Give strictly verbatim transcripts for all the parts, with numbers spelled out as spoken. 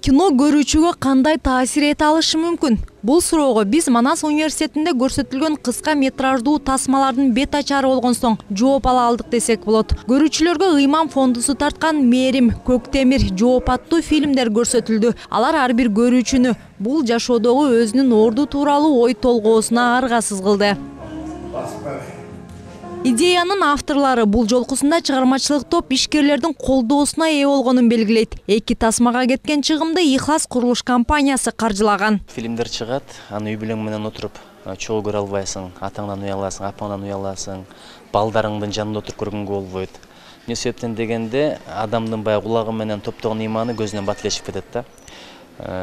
Кино көрүүчүгө кандай таасир эте алышы мүмкүн? Бул суроого биз Манас университетинде көрсөтүлгөн кыска метраждуу тасмалардын бет ачары болгон соң жооп ала алдык десек болот. Көрүүчүлөргө ыйман фондусу тарткан Мээрим, Көктемир, Жооп аттуу фильмдер көрсөтүлдү. Алар ар бир көрүүчүнү бул жашоодогу өзүнүн орду тууралуу ой толгоосуна аргасыз кылды. Идеянын авторлары бул жолкусунда чыгармачылык топ ишкерлердин колдоосуна ээ болгонун белгилейт. Эки тасмага кеткен чыгымды Ихлас курулуш компаниясы каржылаган. Фильмдер чыгат, аны үй бүлөң менен отуруп чогуу көрө албайсың, атаңдан уяласың, апаңдан уяласың, балдарыңдын жанында отуруп көргөнгө болбойт. Эмне себептен дегенде, адамдын баягы кулагы менен топтогон ыйманы көзүнөн батилешип кетет да.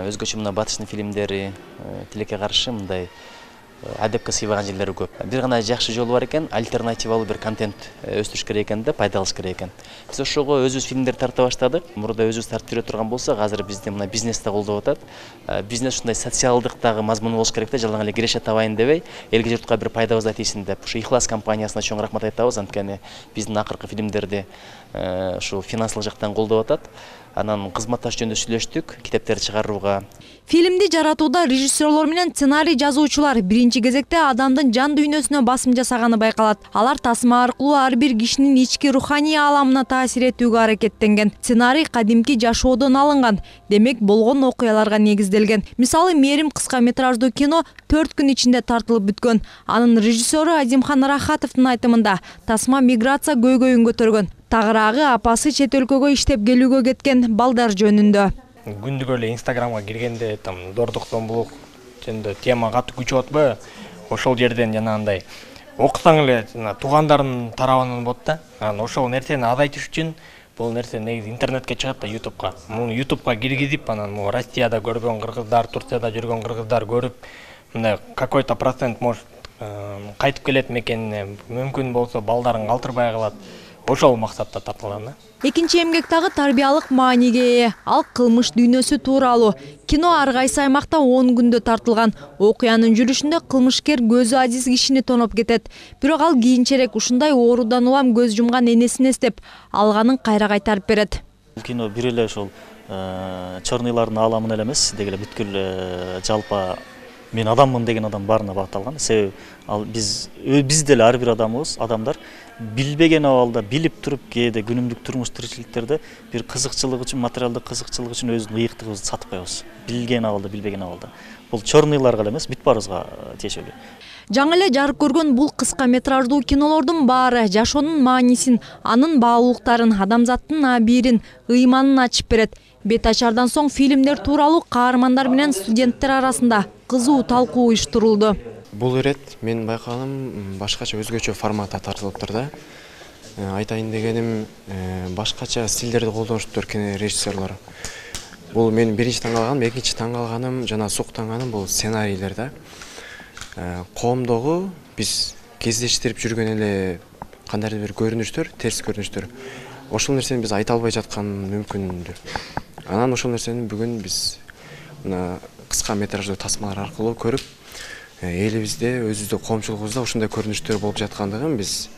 Өзгөчө мына батыштын фильмдери тилекке каршы мындай адепке сыйбаган жерлери көп. Бир гана жакшы жолу бар экен, альтернативалуу бир контент өстүрүш керек экен да, пайдалаш керек экен. Биз ошого өзүбүз фильмдер тарта баштадык. Мурда өзүбүз тартып жүрө турган болсок, азыр бизди мына бизнесте колдоп атат. Бизнес ушундай социалдык дагы мазмуну болуш керек да, жалаң эле киреше табайын дебей, элге журтка бир пайдабызды айтыйсың деп. Ушу Ихлас компаниясына чоң рахмат айтабыз, анткени биздин акыркы фильмдерди ушу финансылык жактан колдоп атат. Анан кызматташ жөнүндө сүйлөштүк, китептерди чыгарууга. Фильмди жаратууда режиссерлор менен сценарий жазуучулар биринчи кезекте адамдын жан дүйнөсүнө басым жасаганы байкалат. Алар тасма аркылуу ар бир кишинин ички руханий ааламына таасир этүүгө аракеттенген. Сценарий кадимки жашоодон алынган, демек болгон окуяларга негизделген. Мисалы, Мээрим кыска метраждуу кино төрт күн ичинде тартылып бүткөн. Анын режиссеру Азимхан Рахатовдун айтымында тасма миграция көйгөйүн көтөргөн. Тагыраагы апасы чет өлкөгө иштеп келүүгө кеткен балдар жөнүндө. Күндүк эле Инстаграмга киргенде там Дордуктон булук жөнүндө тема катуу күчүп атпайбы? Ошол жерден жанагындай окусаң эле жана туугандарынын тарабынан болот да. Анан ошол нерсени азайтыш үчүн бул нерсе негизи интернетке чыгат да, ютубка. Муну ютубка киргизип, анан могу Россияда көргөн кыргыздар, Турцияда жүргөн кыргыздар көрүп, мындай какой-то процент может кайтып келет мекенине, мүмкүн болсо балдарын калтырбай калат. Ошол максатта тартылган да. Экинчи эмгек дагы тарбиялык мааниге ээ. Ал кылмыш дүйнөсү тууралуу. Кино ар кайсы аймакта он күндө тартылган. Окуянын жүрүшүндө кылмышкер көзү азиз кишини тоноп кетет. Бирок ал кийинчерээк ушундай оорудан улам көз жумган энесин эстеп, алганын кайра кайтарып берет. Бул кино бир эле ошол чорныйлардын ааламына эле эмес, деги эле бүткүл жалпы мен адаммын деген адам баарына багытталган. Себеби ал биз биз деле ар бир адамыбыз, адамдар билбеген абалда, билип туруп кээде күнүмдүк турмуш тиричиликтерде бир кызыкчылык үчүн, материалдык кызыкчылык үчүн өзүнүн ыйыктыгыбызды сатып коебуз. Билген абалда, билбеген абалда. Бул чорныйларга эле эмес, бүт баарыбызга тиешелүү. Жаңы эле жарык көргөн бул кыска метраждуу кинолордун баары жашоонун маанисин, анын баалуулуктарын, адамзаттын абийирин, ыйманын ачып берет. Бет ачардан соң фильмдер тууралуу каармандар менен студенттер арасында кызуу талкуу уюштурулду. Бул ирет мен байкаганым башкача өзгөчө форматта тартылыптыр да. Айтайын дегеним, башкача стилдерди колдонуштур кинорежиссерлор. Бул мен биринчи таң калганым, экинчи таң калганым жана суктанганым бул сценарийлер да. Коомдогу биз кездештирип жүргөн эле кандайдыр бир көрүнүштөр, терс көрүнүштөр. Ошол нерсени биз айта албай жаткан мүмкүндүр. Анан ошол нерсени бүгүн биз мына кыска метраждуу тасмалар аркылуу көрүп, элибизде, өзүбүздүн коомчулугубузда ушундай көрүнүштөр болуп жаткандыгын биз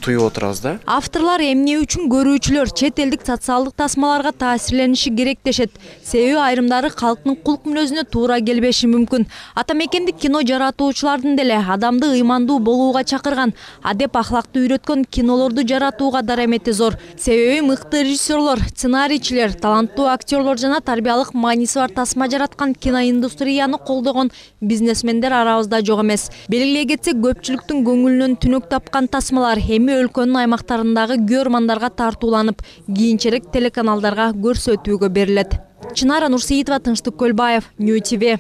туюп отурабыз да. Авторлор эмне үчүн көрүүчүлөр чет элдик социалдык тасмаларга таасирлениши керек дешет. Себеби айрымдары калктын кулк мүнөзүнө туура келбеши мүмкүн. Ата мекендик кино жаратуучулардын деле адамды ыймандуу болууга чакырган, адеп ахлакты үйрөткөн кинолорду жаратууга дарамети зор. Себеби мыкты режиссерлор, сценарийчилер, таланттуу актерлор жана тарбиялык мааниси бар тасма жараткан киноиндустрияны колдогон бизнесмендер арабызда жок эмес. Белгилей кетсек, көпчүлүктүн көңүлүнөн түнөк тапкан тасмалар эми өлкөнүн аймактарындагы көрмандарга тартууланып, кийинчерээк телеканалдарга көрсөтүүгө берилет. Чынара Нурсеитова, Тынчтык Көлбаев, Нью ти ви.